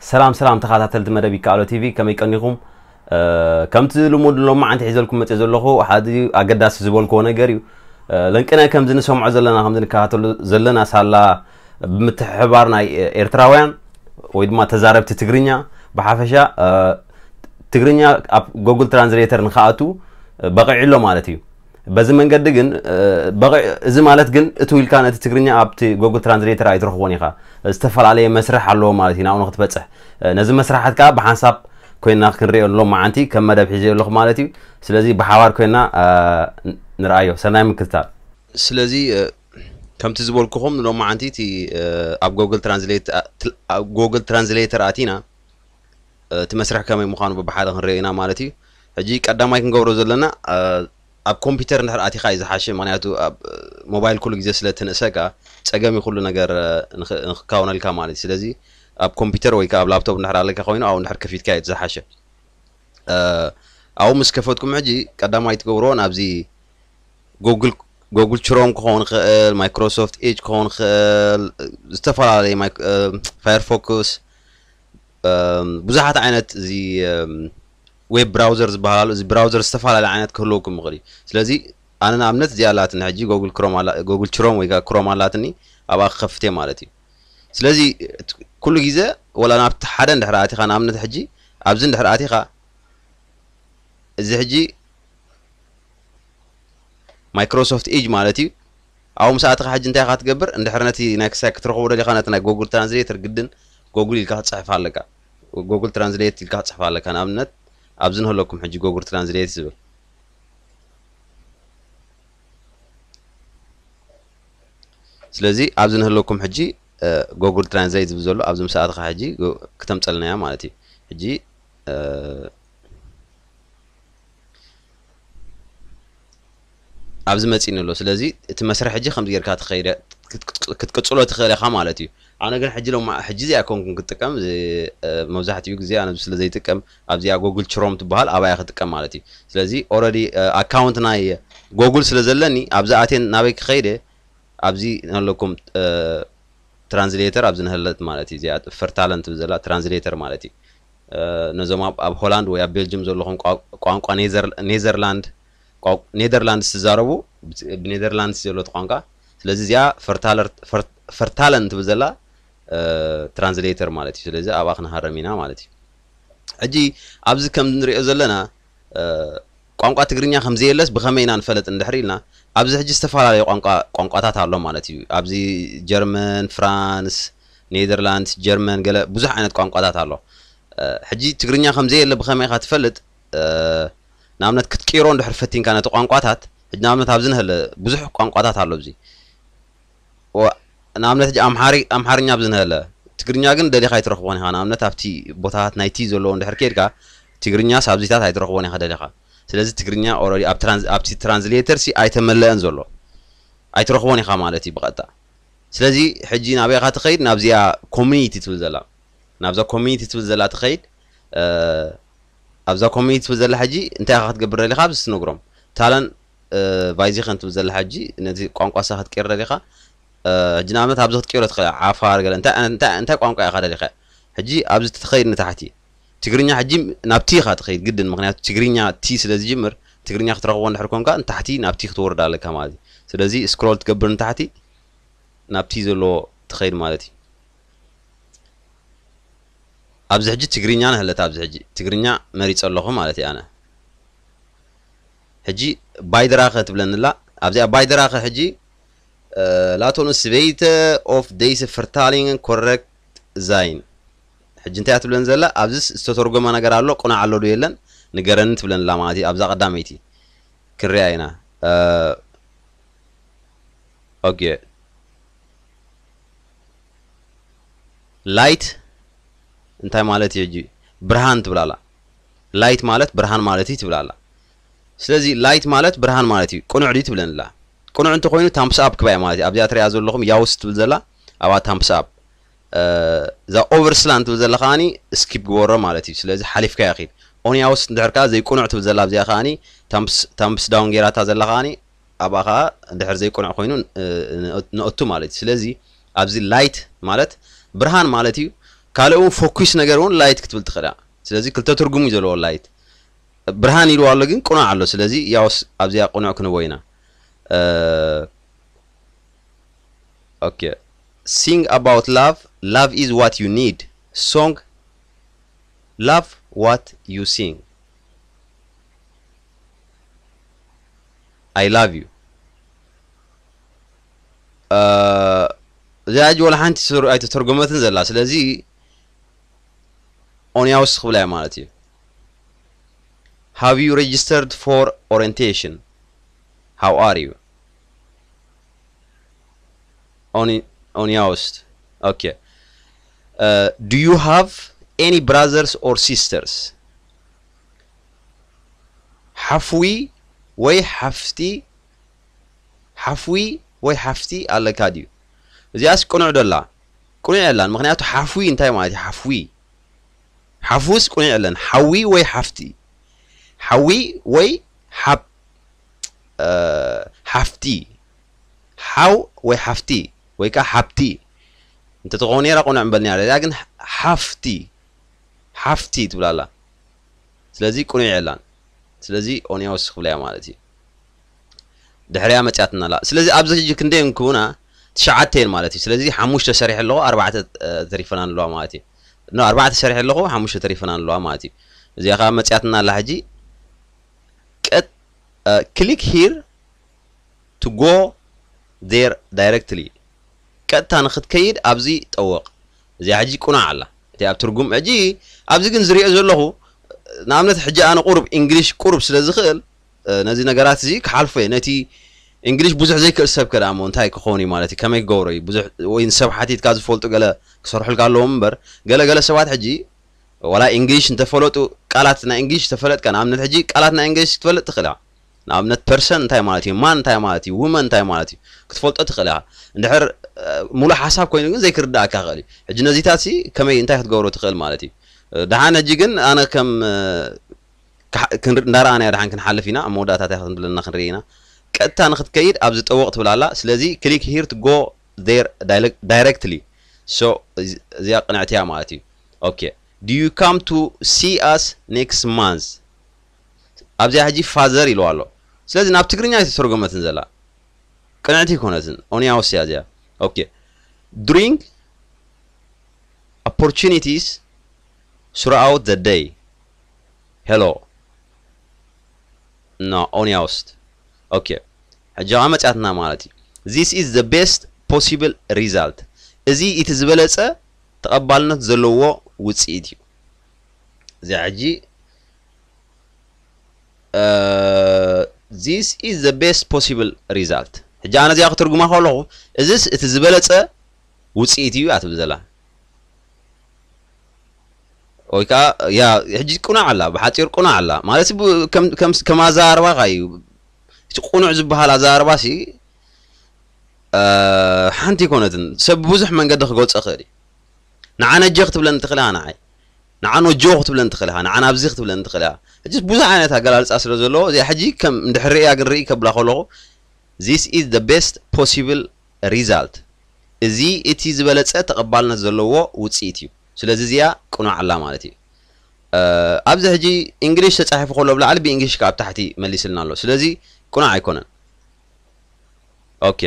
ሰላም ሰላም ተኸታተልቲ መደብ ይከኣሎ ቲቪ፣ ከመይ ቀኒኹም? ከምቲ ልሙድ ሎማዓንቲ ሒዘልኩም መፅእ ዘለኹ ሓደ ኣገዳሲ ዝበልክዎ ነገር እዩ። ለንቅነ ከምዚ ንሰምዖ ዘለና፣ ከምዚ ንከታተሎ ዘለና ሳላ ብምትሕብባር ናይ ኤርትራውያን ወይ ድማ ተዛረብቲ ትግርኛ ብሓፈሻ ትግርኛ ኣብ ጎግል ትራንስሌተር ንክኣቱ በቂዑ ኣሎ ማለት እዩ። በዚ መንገዲ ግን እዚ ማለት ግን እቱ ኢልካ ነቲ ትግርኛ ኣብቲ ጎግል ትራንስሌተር ኣይትረኽቦን ኢኻ። ዝተፈላለየ መስርሕ ኣለዎ ማለት እዩ ናብኡ ንክትበፅሕ። ነዚ መስርሓት ከዓ ብሓንሳብ ኮይና ክንሪኦ ሎማዓንቲ ከም መደብ ሒዘ ኣለኹ ማለት እዩ። ስለዚ ብሓባር ኮይና ንርኣዮ። ሰናይ ምክትታል። ስለዚ ከምቲ ዝበልኩኹም ሎማዓንቲ እቲ ኣብ ጎግል ትራንስሌተር ኣቲና እቲ መስርሕ ከመይ ምዃኑ ብብሓደ ክንሪኦ ኢና ማለት እዩ። ሕጂ ቀዳማይ ክንገብሮ ዘለና ኣብ ኮምፒውተር እንድሕር ኣቲኻ እዩ ዝሓሸ። ምክንያቱ ኣብ ሞባይል ኩሉ ግዜ ስለ ትንእሰካ ፀገም እዩ ኩሉ ነገር ንክካወነልካ ማለት እዩ። ስለዚ ኣብ ኮምፒውተር ወይ ከዓ ኣብ ላፕቶፕ እንድሕር ኣለካ ኮይኑ ኣብኡ እንድሕር ከፊትካ እዩ ዝሓሸ። ኣብኡ ምስ ከፈትኩም ሕጂ ቀዳማይ ትገብርዎ ናብዚ ጎግል ክሮም ክኸውን ይኽእል፣ ማይክሮሶፍት ኤጅ ክኸውን ይኽእል፣ ዝተፈላለዩ ፋየርፎክስ፣ ብዙሓት ዓይነት እዚ ዌብ ብራውዘር ዝበሃል ኣሎ። እዚ ብራውዘር ዝተፈላለየ ዓይነት ክህልወኩም ይኽእል እዩ። ስለዚ ኣነ ንኣብነት እዚኣ ኣላትኒ ሕጂ ጎግል ክሮም ወይ ክሮም ኣላትኒ፣ ኣብኣ ክኸፍት እየ ማለት እዩ። ስለዚ ኩሉ ግዜ ወላ ናብቲ ሓደ እንድሕር ኣቲኻ ንኣብነት ሕጂ ኣብዚ እንድሕር ኣቲኻ እዚ ሕጂ ማይክሮሶፍት ኤጅ ማለት እዩ። ኣብኡ ምስ ኣተኻ ሕጂ እንታይ ኢኻ ትገብር? እንድሕር ነቲ ናይ ክሳይ ክትረኽቦ ደሊኻ ነቲ ናይ ጎግል ትራንስሌተር ግድን ጎግል ኢልካ ክትፅሕፍ ኣለካ። ጎግል ትራንስሌት ኢልካ ክትፅሕፍ ኣለካ። ንኣብነት ኣብዚ ንህለኩም ሕጂ ጎግል ትራንስሌት ዝብል። ስለዚ ኣብዚ ንህለኩም ሕጂ ጎግል ትራንስሌት ዝብል ዘሎ ኣብዚ ምስ ኣተኻ ሕጂ ክተምፀልና እያ ማለት እዩ። ሕጂ ኣብዚ መፂኒ ኣሎ። ስለዚ እቲ መስርሕ ሕጂ ከምዚ ጌርካ ክትቅፅሎ ትኽእል ኢኻ ማለት እዩ። ኣነ ግን ሕጂ ሎማ ሕጂ እዚኣ ኮንኩን ክጥቀም መብዛሕትኡ ግዜ ኣነ ስለ ዘይጥቀም ኣብዚኣ ጎግል ክሮም ትበሃል ኣብያ ክጥቀም ማለት እዩ። ስለዚ ኦረዲ ኣካውንት ናይ ጎግል ስለ ዘለኒ ኣብዚ ኣቴን ናበይ ክኸይደ ኣብዚ ነለኩም ትራንስሌተር ኣብዚ ንህለት ማለት እዩ። እዚኣ ፈርታለን ትብል ዘላ ትራንስሌተር ማለት እዩ። ነዞም ኣብ ሆላንድ ወይ ኣብ ቤልጅም ዘለኹም ቋንቋ ኔዘርላንድ ኔዘርላንድስ ትዛረቡ ብኔዘርላንድስ ዘሎ ቋንቋ። ስለዚ እዚኣ ፈርታለን ትብል ዘላ ትራንስሌተር ማለት እዩ። ስለዚ ኣብኣ ክንሃረም ኢና ማለት እዩ። ሕጂ ኣብዚ ከም ንሪኦ ዘለና ቋንቋ ትግርኛ ከም ዘየለስ ብኸመይ ኢና ንፈለጥ እንድሕር ኢልና ኣብዚ ሕጂ ዝተፈላለዩ ቋንቋ ቋንቋታት ኣሎ ማለት እዩ። ኣብዚ ጀርመን፣ ፍራንስ፣ ኔዘርላንድስ፣ ጀርመን ገለ ብዙሕ ዓይነት ቋንቋታት ኣሎ። ሕጂ ትግርኛ ከም ዘየለ ብኸመይ ኢኻ ትፈልጥ? ንኣብነት ክትቅይሮ እንድሕር ፈቲንካ ነቲ ቋንቋታት ሕጂ ንኣብነት ኣብዚ ንህለ ብዙሕ ቋንቋታት ኣሎ ኣብዚ ንኣብነት ሕጂ ኣምሓርኛ ኣብዚ ንህለ ትግርኛ ግን ደሊኻ ኣይትረኽቦን ኢኻ። ንኣብነት ኣብቲ ቦታታት ናይ ቲ ዘለዎ እንድሕር ከይድካ ትግርኛ ሳብዚታት ኣይትረኽቦን ኢኻ ደሊኻ። ስለዚ ትግርኛ ኦረዲ ኣብቲ ትራንስሌተር ሲ ኣይተመለአን ዘሎ ኣይትረኽቦን ኢኻ ማለት እዩ ብቐጥታ። ስለዚ ሕጂ ናበይ ኢኻ ትኸይድ? ናብዚኣ ኮሚኒቲ ትብል ዘላ ናብዛ ኮሚኒቲ ትብል ዘላ ትኸይድ። ኣብዛ ኮሚኒቲ ትብል ዘላ ሕጂ እንታይ ኢኻ ክትገብር ደሊኻ ኣብዚ ትነግሮም ታለን ቫይዚኸን ትብል ዘላ ሕጂ ነዚ ቋንቋ ሳ ክትቀይር ደሊኻ ሕጂ ንኣብነት ኣብዚ ክትቀይሮ ትኽእል ዓፋር ገለ እንታይ ቋንቋ ኢኻ ደሊኻ ሕጂ ኣብዚ ትኸይድ ንታሕቲ ትግርኛ ሕጂ ናብ ቲ ኢኻ ትኸይድ ግድን ምክንያቱ ትግርኛ ቲ ስለ ዝጅምር ትግርኛ ክትረኽቦ እንድሕር ኮንካ ንታሕቲ ናብ ቲ ክትወርድ ኣለካ ማለት እዩ። ስለዚ ስክሮል ትገብር ንታሕቲ ናብ ቲ ዘለዎ ትኸይድ ማለት እዩ። ኣብዚ ሕጂ ትግርኛ ንህለት ኣብዚ ሕጂ ትግርኛ መሪፀ ኣለኹ ማለት እዩ ኣነ። ሕጂ ባይድራኸ ትብለኒ ኣላ ኣብዚኣ ባይድራኸ ሕጂ ላቶን ስበይተ ኦፍ ደይስ ፍርታሊንግ ኮረክት ዛይን ሕጂ እንታይ ትብለን ዘላ ኣብዚስ ዝተተርጎመ ነገር ኣሎ ቁናዕ ኣሎ ዶ የለን ንገረኒ ትብለን ኣላ ማለት እዩ ኣብዛ ቀዳመይቲ ክንሪኣ ኢና። ኦኬ ላይት እንታይ ማለት እዩ ሕጂ ብርሃን ትብላላ ላይት ማለት ብርሃን ማለት እዩ ትብላላ። ስለዚ ላይት ማለት ብርሃን ማለት እዩ ቅኑዕ ድዩ ትብለንላ ቅኑዕ እንተኮይኑ ታምፕስ ኣፕ ክባይ ማለት እዩ ኣብዚኣ ትሪኣ ዘለኹም ያውስ ትብል ዘላ ኣብኣ ታምፕስ ኣፕ እዛ ኦቨርስላን ትብል ዘላ ከዓኒ ስኪፕ ግበሮ ማለት እዩ ስለዚ ሓሊፍካ ይኽእል ኦን ያውስ እንድሕር ከዓ ዘይቅኑዕ ትብል ዘላ ኣብዚኣ ከዓኒ ታምፕስ ዳውን ጌራታ ዘላ ከዓኒ ኣብኣ ከዓ እንድሕር ዘይቅኑዕ ኮይኑ ንእቱ ማለት እዩ ስለዚ ኣብዚ ላይት ማለት ብርሃን ማለት እዩ ካልእ እውን ፎኪስ ነገር እውን ላይት ክትብል ትኽእል እያ። ስለዚ ክልተ ትርጉም እዩ ዘለዎ ላይት። ብርሃን ኢልዋ ኣሎ ግን ቅኑዕ ኣሎ። ስለዚ ያውስ ኣብዚኣ ቅኑዕ ክንቦ ኢና። Okay, sing about love. Love is what you need. Song. Love what you sing. I love you. እዚኣ ሕጂ ወላ ሓንቲ ኣይተተርጎመትን ዘላ። ስለዚ ኦንያውስ ክብላ እያ ማለት እዩ። Have you registered for orientation? How are you? ኦንያውስት። Okay. Do you have any brothers or sisters? ሓፍዊ ወይ ሓፍቲ ሓፍዊ ወይ ሓፍቲ ኣለካ ድዩ? እዚኣስ ቅኑዕ ደላ ቅኑዕ የላን። ምክንያቱ ሓፍዊ እንታይ ማለት እዩ? ሓፍዊ ሓፍውስ ቅኑዕ የለን። ሓዊ ወይ ሓፍቲ ሓዊ ወይ ሓብ ሓፍቲ ሓው ወይ ሓፍቲ ወይ ከዓ ሓብቲ እንተትኸውን ነራ ቅኑዕ እምበል ነራ። እዚኣ ግን ሓፍቲ ሓፍቲ ትብላላ። ስለዚ ቅኑዕ የላን። ስለዚ ኦንያውስ ክብላ እያ ማለት እዩ። ድሕሪያ መፅያትና ኣላ። ስለዚ ኣብዚ ሕጂ ክንደይ እንክቡና ትሽዓተ እየን ማለት እዩ። ስለዚ ሓሙሽተ ሰሪሐ ኣለኹ ኣርባዕተ ተሪፈና ኣለዋ ማለት እዩ። ኖ ኣርባዕተ ሰሪሐ ኣለኹ ሓሙሽተ ተሪፈና ኣለዋ ማለት እዩ። እዚኣ ከዓ መፅያትና ኣላ ሕጂ ቀጥ click here to go there directly ቀጥታ ንክትከይድ ኣብዚ ጠወቕ። እዚኣ ሕጂ ቁናዕ ኣላ እቲ ኣብ ትርጉም ሕጂ ኣብዚ ግን ዝሪኦ ዘለኹ ንኣብነት ሕጂ ኣነ ቁሩብ እንግሊሽ ቁሩብ ስለ ዝኽእል ነዚ ነገራት እዚ ክሓልፎ እየ። ነቲ እንግሊሽ ብዙሕ ዘይክእል ሰብ ከ ደኣ እሞ እንታይ ክኸውን እዩ ማለት እዩ? ከመይ ክገብሮ እዩ? ብዙሕ ወይ ንሰብ ሓቲትካ ዝፈልጡ ገለ ክሰርሑልካ ኣለዎም እምበር ገለ ገለ ሰባት ሕጂ ዋላ እንግሊሽ እንተፈለጡ ቃላት ናይ እንግሊሽ ተፈለጥካ ንኣብነት ሕጂ ቃላት ናይ እንግሊሽ ክትፈልጥ ትኽእል ኢኻ። ንኣብነት ፐርሰን እንታይ ማለት እዩ? ማን እንታይ ማለት እዩ? ውመን እንታይ ማለት እዩ? ክትፈልጦ ትኽእል ኢኻ። እንድሕር ሙሉእ ሓሳብ ኮይኑ ግን ዘይክርዳእካ ይኽእል እዩ። ሕጂ ነዚታት ሲ ከመይ እንታይ ክትገብሮ ትኽእል ማለት እዩ? ደሓን ሕጂ ግን ኣነ ከም እንዳረኣናዮ ደሓን ክንሓልፍ ኢና። ኣብ መወዳእታ እንታይ ክትብለና ክንርኢ ኢና። ቀጥታ ንክትከይድ ኣብዚ ጠወቕ ትብል ኣላ። ስለዚ click here to go there directly so እዚኣ ቅንዕቲ እያ ማለት እዩ። Okay, do you come to see us next month? ኣብዚኣ ሕጂ ፋዘር ኢልዋ ኣሎ። ስለዚ ናብ ትግርኛ ኣይተተርጎመትን ዘላ ቅንዕቲ ኣይኮነትን። ኦንያውስ እያ እዚኣ። Okay, during opportunities throughout the day. Hello. No, ኦንያውስት። Okay, ሕጂ ከዓ መፅያትና ማለት እዩ። This is the best possible result. እዚ እቲ ዝበለፀ ተቐባልነት ዘለዎ ውፅኢት እዩ። እዚኣ ሕጂ This is the best possible result. ሕጂ ኣነ እዚኣ ክትርጉማ ከለኹ እዚስ እቲ ዝበለፀ ውፅኢት እዩ ኣትብል ዘላ ወይ ከዓ ያ ሕጂ ቁናዕ ኣላ ብሓፂር ቁናዕ ኣላ ማለት ከም ኣዘራርባኻ እዩ። እቲ ቁኑዕ ዝበሃል ኣዘራርባ ሲ ሓንቲ ኣይኮነትን ሰብ ብብዙሕ መንገዲ ክገልፆ ይኽእል እዩ። ንዓ ነጀ ክትብለኒ ትኽእል ኢኻ ንዓይ ንዓ ነጆ ክትብለኒ ትኽእል ኢኻ ንዓ ናብዚ ክትብለኒ ትኽእል ኢኻ። ሕጂ ብዙሕ ዓይነት ኣገላልፃ ስለ ዘለዎ እዚኣ ሕጂ ከም እንድሕር ርእያ ግን ርኢ ከብላ ከለኹ this is the best possible result እዚ እቲ ዝበለፀ ተቐባልነት ዘለዎ ውፅኢት እዩ። ስለዚ እዚኣ ቅኑዕ ኣላ ማለት እዩ። ኣብዚ ሕጂ እንግሊሽ ተፃሒፉ ከሎ ብላዕሊ ብእንግሊሽ ካብ ታሕቲ መሊስልና ኣሎ። ስለዚ ቅኑዕ ኣይኮነን። ኦኬ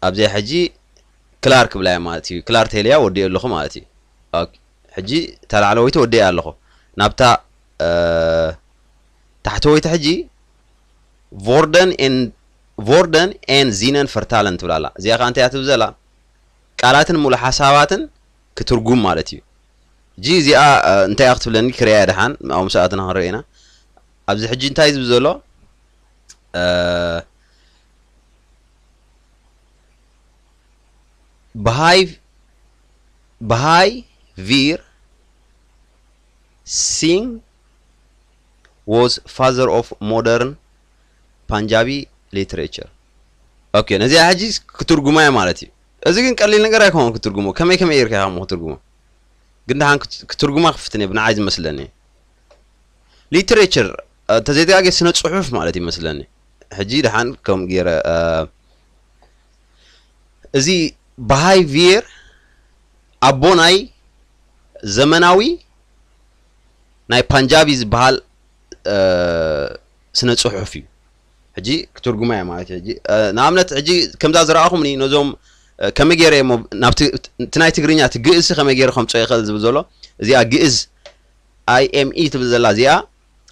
ኣብዚኣ ሕጂ ክላር ክብላያ ማለት እዩ። ክላር ተልያ ወዲኦ ኣለኹ ማለት እዩ። ሕጂ እታ ላዕለወይቲ ወዲኣ ኣለኹ ናብታ ታሕተወይቲ ሕጂ ቮርደን ቮርደን ኤን ዚነን ፈርታለን ትብላላ። እዚኣ ከዓ እንታይ እያ ትብዘላ ቃላትን ሙሉ ሓሳባትን ክትርጉም ማለት እዩ። ሕጂ እዚኣ እንታይ እያ ክትብለኒ ክሪያ ደሓን ኣብኡ ሰኣትና ክንርኢ ኢና። ኣብዚ ሕጂ እንታይ ዝብል ዘሎ ብሃይ ብሃይ ቪር ሲንግ was father of modern Punjabi literature. ኦኬ ነዚኣ ሕጂ ክትርጉማ እየ ማለት እዩ። እዚ ግን ቀሊል ነገር ኣይኮነን ክትርጉሞ። ከመይ ከመይ ጌርካ ኢኻ ክትርጉሞ? ግን ደሓን ክትርጉማ ክፍትን እየ ብንዓይ ዝመስለኒ። ሊትሬቸር እንተዘይተጋጌ ስነ ፅሑፍ ማለት ይመስለኒ። ሕጂ ደሓን ከም ገይረ እዚ ብሃይ ቪር ኣቦ ናይ ዘመናዊ ናይ ፓንጃቢ ዝበሃል ስነ ፅሑፍ እዩ። ሕጂ ክትርጉማ እያ ማለት እዩ። ሕጂ ንኣብነት ሕጂ ከምዛ ዝረኣኹምኒ ነዞም ከመይ ገይረ እሞ ናብቲ እቲ ናይ ትግርኛ እቲ ግእዝ ከመይ ገይረ ከምፅኦ ይኽእል ዝብል ዘሎ እዚኣ ግእዝ ኣይኤምኢ ትብል ዘላ እዚኣ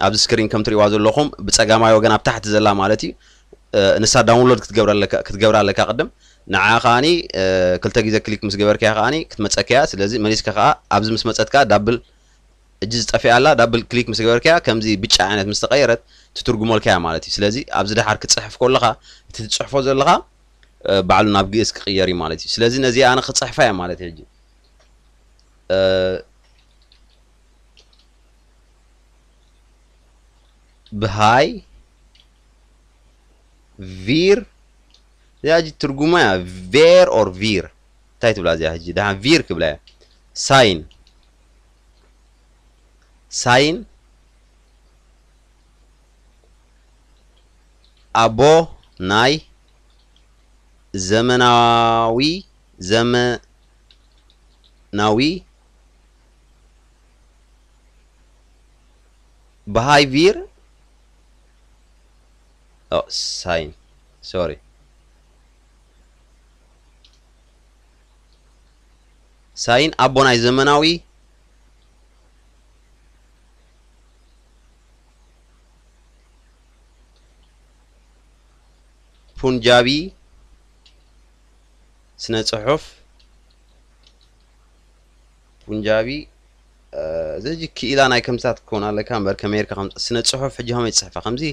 ኣብዚ ስክሪን ከም ትሪእዋ ዘለኹም ብፀጋማይ ወገን ኣብ ታሕቲ ዘላ ማለት እዩ። ንሳ ዳውንሎድ ክትገብራ ኣለካ ቅድም ንዓ ከዓኒ ክልተ ግዜ ክሊክ ምስ ገበርካያ ከዓኒ ክትመፀካ እያ። ስለዚ መሊስካ ከዓ ኣብዚ ምስ መፀት ከዓ ዳብል እጂ ዝጠፊኣ ኣላ ዳብል ክሊክ ምስ ገበርካያ ከምዚ ብጫ ዓይነት ምስ ተቐየረት ትትርጉመልካ እያ ማለት እዩ። ስለዚ ኣብዚ ደሓር ክትፅሕፍ ከለኻ እቲ ትፅሕፎ ዘለኻ ባዕሉ ናብ ግእዝ ክቕየር እዩ ማለት እዩ። ስለዚ ነዚ ኣነ ክፅሕፋ እየ ማለት እዩ። ሕጂ ብሃይ ቪር እዚኣ ሕጂ ትርጉማ እያ። ቬር ኦር ቪር እንታይ ትብላ እዚኣ ሕጂ ደሓን ቪር ክብላ እያ። ሳይን ሳይን ኣቦ ናይ ዘመናዊ ዘመናዊ ብሃይ ቪር ሳይን ሶሪ ሳይን ኣቦ ናይ ዘመናዊ ፑንጃቢ ስነ ጽሑፍ ፑንጃቢ እዚ ክኢላ ናይ ከምሳት ክኸውን ኣለካ እምበር ከመይ ርካ ስነ ጽሑፍ ሕጂ ከመይ ትጽሕፋ ከምዚ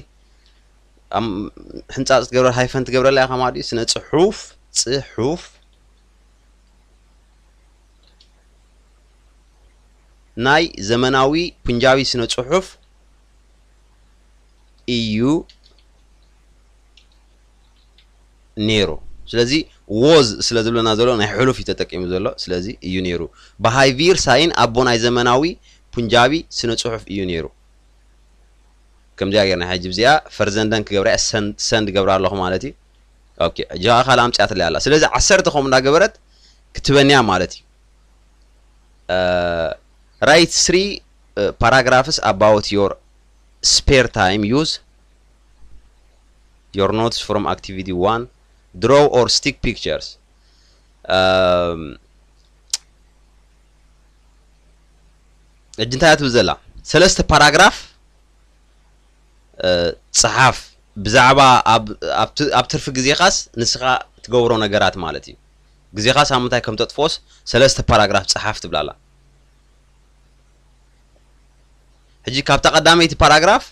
ሕንጻጽ ትገብረ ሃይፈን ትገብረላ ኢኻ ማለት እዩ። ስነ ጽሑፍ ጽሑፍ ናይ ዘመናዊ ፑንጃቢ ስነ ጽሑፍ እዩ ነይሩ። ስለዚ ዎዝ ስለ ዝብለና ዘሎ ናይ ሕሉፍ እዩ ተጠቂሙ ዘሎ። ስለዚ እዩ ነይሩ። ብሃይቪር ሳይን ኣቦ ናይ ዘመናዊ ፑንጃቢ ስነ ጽሑፍ እዩ ነይሩ። ከምዚኣ ጌርና ሕጂ ብዚኣ ፈርዘንደን ክገብራ ሰንድ ገብራ ኣለኹ ማለት እዩ። ኦኬ እጃ ካልእ ኣምፅኣትለይ ኣላ። ስለዚ ዓሰርተ ከምኡ እንዳገበረት ክትበንያ ማለት እዩ። Write three paragraphs about your spare time. Use your notes from activity one. Draw or stick pictures. ሕጂ እንታይ ትብል ዘላ ሰለስተ ፓራግራፍ ፀሓፍ ብዛዕባ ኣብ ትርፊ ግዜኻስ ንስኻ ትገብሮ ነገራት ማለት እዩ። ግዜኻስ ኣብ ምንታይ ከም ተጥፍኦስ ሰለስተ ፓራግራፍ ፀሓፍ ትብላላ። ሕጂ ካብታ ቀዳመይቲ ፓራግራፍ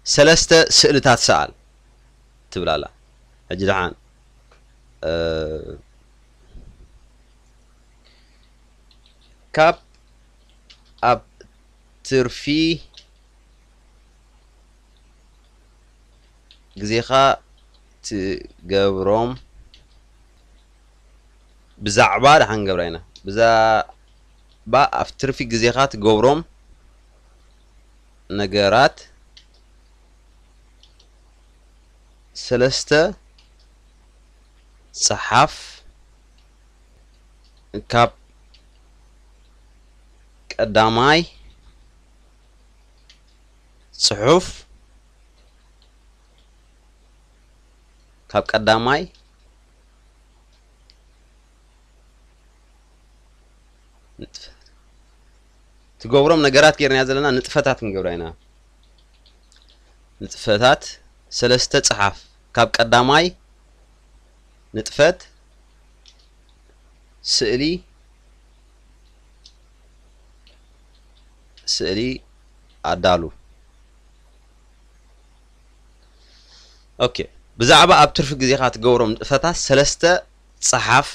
ሰለስተ ስእልታት ሰኣል ትብላላ። ሕጂ ደሓን ካብ ኣብ ትርፊ ግዜኻ ትገብሮም ብዛዕባ ደሓን ገብራ ኢና ብዛዕባ ኣብ ትርፊ ግዜኻ ትገብሮም ነገራት ሰለስተ ጸሓፍ ካብ ቀዳማይ ጽሑፍ ካብ ቀዳማይ ንጥፈት ትገብሮም ነገራት ጌርና ዘለና ንጥፈታት ክንገብራ ኢና። ንጥፈታት ሰለስተ ጸሓፍ ካብ ቀዳማይ ንጥፈት ስእሊ ስእሊ ኣዳሉ። ኦኬ ብዛዕባ ኣብ ትርፊ ግዜኻ ትገብሮም ንጥፈታት ሰለስተ ጸሓፍ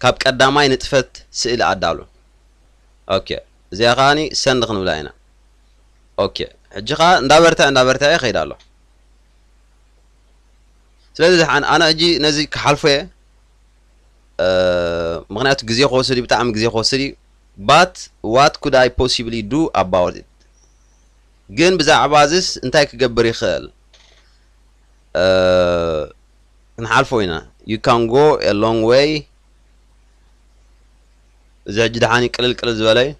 ካብ ቀዳማይ ንጥፈት ስእሊ ኣዳሉ። ኦኬ እዚኣ ከዓኒ ሰንድ ክንብላ ኢና። ኦኬ ሕጂ ኸዓ እንዳበርታ እንዳበርታ ይኸይድ ኣሎ። ስለዚ ዝሓን ኣነ ሕጂ ነዚ ክሓልፎ እየ። ምክንያቱ ግዜ ክወስድ እዩ ብጣዕሚ ግዜ ክወስድ እዩ። But what could I possibly do about it? ግን ብዛዕባ እዚስ እንታይ ክገብር ይኽእል? ክንሓልፎ ኢና። You can go a long way እዚ ሕጂ ደሓን እዩ ቅልል ቅልል ዝበለ እዩ።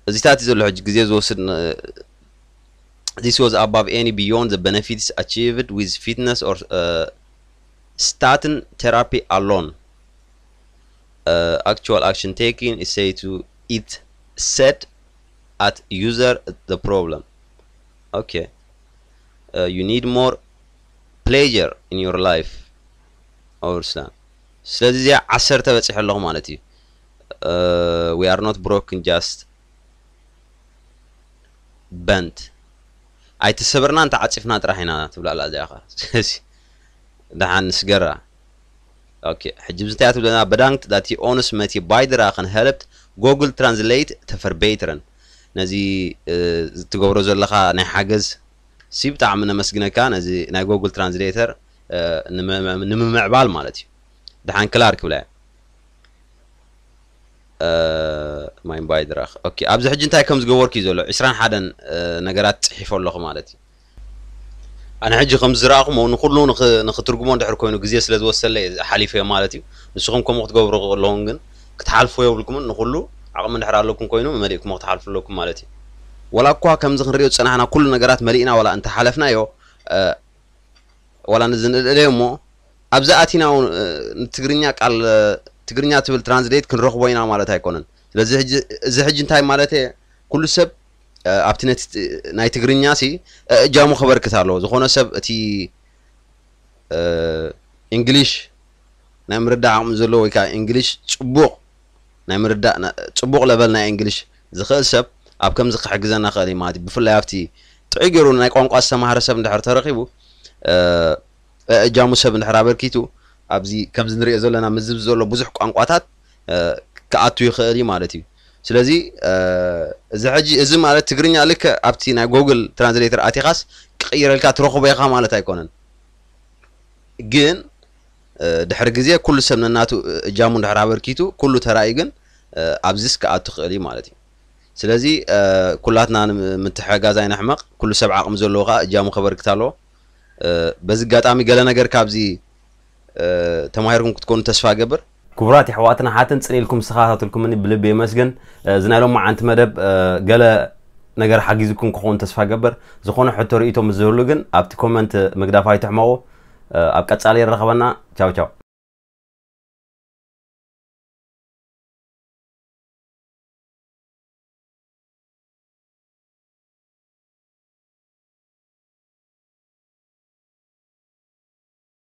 እዚታት እዩ ዘሎ ሕጂ ግዜ ዝወስድ ን- this was above any beyond the benefits achieved with fitness or uh, statin therapy alone. Uh, actual action taking is said to it set at user the problem. Okay. Uh, you need more pleasure in your life. Or ስለዚ እዚኣ ዓሰርተ በፂሑ ኣለኹ ማለት እዩ። Uh, we are not broken, just bent. ኣይተሰበርናን ተዓፂፍና ጥራሕ ኢና ትብላ ኣላ እዚኣ ኸ። ስለዚ ደሓን ንስገራ። Okay, ሕጂ ብዝንታይ ትብለና? Bedankt dat je ons met je bijdrage helpt Google Translate te verbeteren. ነዚ ትገብሮ ዘለኻ ናይ ሓገዝ ሲ ብጣዕሚ ነመስግነካ። ነዚ ናይ Google Translator ንምምዕባል ማለት እዩ። ደሓን ክላር ክብላ ማይን ባይድራኽ። ኦኬ፣ ኣብዚ ሕጂ እንታይ ከም ዝገበርኩ እዩ ዘሎ? ዕስራን ሓደን ነገራት ጽሒፎ ኣለኹ ማለት እዩ። ኣነ ሕጂ ከም ዝረኣኹሞ ንኹሉ ንኽ- ንኽትርጉሞ እንድሕር ኮይኑ ግዜ ስለ ዝወሰለ እየ ሓሊፈዮ ማለት እዩ። ንስኹም ከምኡ ክትገብሩ ኣለኹም፣ ግን ክትሓልፉ የብልኩምን። ንኹሉ ዓቕሚ እንድሕር ኣለኩም ኮይኑ መሊእኩሞ ክትሓልፉ ኣለኩም ማለት እዩ። ወላ እኳ ከምዚ ክንሪኦ ዝጸናሕና ኩሉ ነገራት መሊእና ወላ እንተሓለፍናዮ፣ እ፣ ወላ ንዝንእለዮ እሞ ኣብዚ ኣቲና እውን፣ እ፣ ንትግርኛ ቃል፣ እ፣ ትግርኛ ትብል ትራንስሌት ክንረኽቦ ኢና ማለት ኣይኮነን። ስለዚ ሕጂ፣ እዚ ሕጂ እንታይ ማለት እየ? ኩሉ ሰብ፣ እ፣ ኣብቲ ነቲ ት- ናይ ትግርኛ ሲ፣ እ፣ እጃሙ ከበርክት ኣለዎ። ዝኾነ ሰብ እቲ፣ እ፣ እንግሊሽ ናይ ምርዳእ ዓቕሚ ዘለዎ ወይ ከዓ እንግሊሽ ጽቡቕ ናይ ምርዳእ ና- ጽቡቕ ለቨል ናይ እንግሊሽ ዝኽእል ሰብ ኣብ ከምዚ ክሕግዘና ክእል እዩ ማለት እዩ። ብፍላይ ኣብቲ ጥዑይ ገይሩ ናይ ቋንቋ ዝተማህረ ሰብ እንድሕር ተረኺቡ፣ እ፣ እጃሙ ሰብ እንድሕር ኣበርኪቱ ኣብዚ ከምዚ ንሪኦ ዘለና ምዝብ ዘሎ ብዙሕ ቋንቋታት፣ እ፣ ክኣቱ ይኽእል እዩ ማለት እዩ። ስለዚ፣ እ፣ እዚ ሕጂ እዚ ማለት ትግርኛ ልክዕ ኣብቲ ናይ ጎግል ትራንስሌተር ኣቲኻስ ክቕይረልካ ትረኽቦ ኢኻ ማለት ኣይኮነን። ግን፣ እ፣ ድሕሪ ግዜ ኩሉ ሰብ ነናቱ እጃሙ እንድሕር ኣበርኪቱ ኩሉ ተራእዩ ግን፣ እ፣ ኣብዚስ ክኣቱ ክእል እዩ ማለት እዩ። ስለዚ፣ እ፣ ኩላትና ንም- ምትሕጋዝ ኣይነሕመቕ። ኩሉ ሰብ ዓቕሚ ዘለዎ ከዓ እጃሙ ከበርክት ኣለዎ። እ፣ በዚ ኣጋጣሚ ገለ ነገር ካብዚ፣ እ፣ ተማሂርኩም ክትኮኑ ተስፋ እገብር። ክቡራት የሕዋትን ኣሓትን ጽን ኢልኩም ዝተኸታተልኩምኒ ብልቢ የመስግን። እ፣ እዚ ናይ ሎማዓንቲ መደብ፣ እ፣ ገለ ነገር ሓጊዙኩም ክኸውን ተስፋ እገብር። ዝኾነ ሕቶ ርእይቶ ምስ ዝህሉ ግን ኣብቲ ኮመንት ምግዳፍ ኣይትሕመቑ። እ፣ ኣብ ቀጻሊ ይረኸበና። ቻው ቻው።